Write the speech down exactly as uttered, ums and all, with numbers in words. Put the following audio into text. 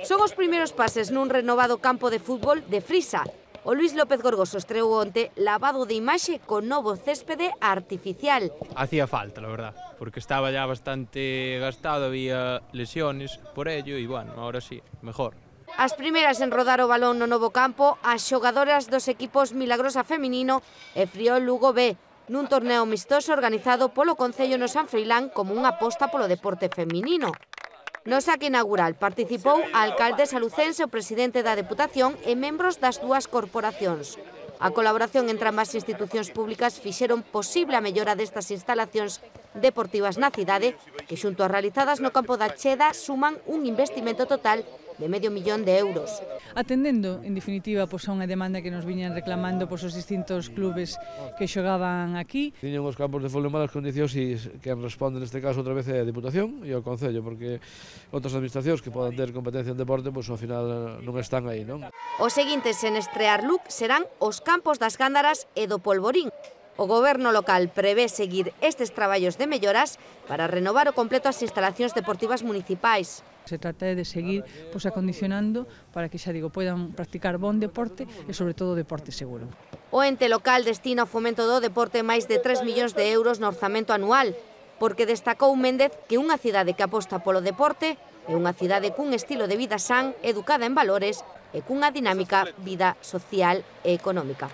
Son os primeiros pases nun renovado campo de fútbol de Frisa. O Luis López Gorgoso estreou onte lavado de imaxe con novo céspede artificial. Hacía falta, la verdad, porque estaba ya bastante gastado, había lesiones por ello e, bueno, ahora sí, mejor. As primeiras en rodar o balón no novo campo, as xogadoras dos equipos Milagrosa Feminino e Friol Lugo B, nun torneo amistoso organizado polo Concello no San Froilán como unha aposta polo deporte feminino. No saque inaugural participou a alcalde salucense, o presidente da Deputación e membros das dúas corporacións. A colaboración entre ambas institucións públicas fixeron posible a mellora destas instalacións deportivas na cidade, que xunto as realizadas no campo da Cheda suman un investimento total de medio millón de euros. Atendendo, en definitiva, pois, a unha demanda que nos viñan reclamando pois, os distintos clubes que xogaban aquí. Tiñan os campos de fútbol en malas condicións e quen responde neste caso outra vez é a Deputación e o Concello, porque outras administracións que podan ter competencia en deporte, pois ao final non están aí, non? Os seguintes en estrear look serán os campos das Gándaras e do Polvorín. O goberno local prevé seguir estes traballos de melloras para renovar o completo as instalacións deportivas municipais. Se trata de seguir pois, acondicionando para que, xa digo, poidan practicar bon deporte e, sobre todo, deporte seguro. O ente local destina ao fomento do deporte máis de tres millóns de euros no orzamento anual, porque destacou Méndez que unha cidade que aposta polo deporte é unha cidade cun estilo de vida san, educada en valores e cunha dinámica vida social e económica.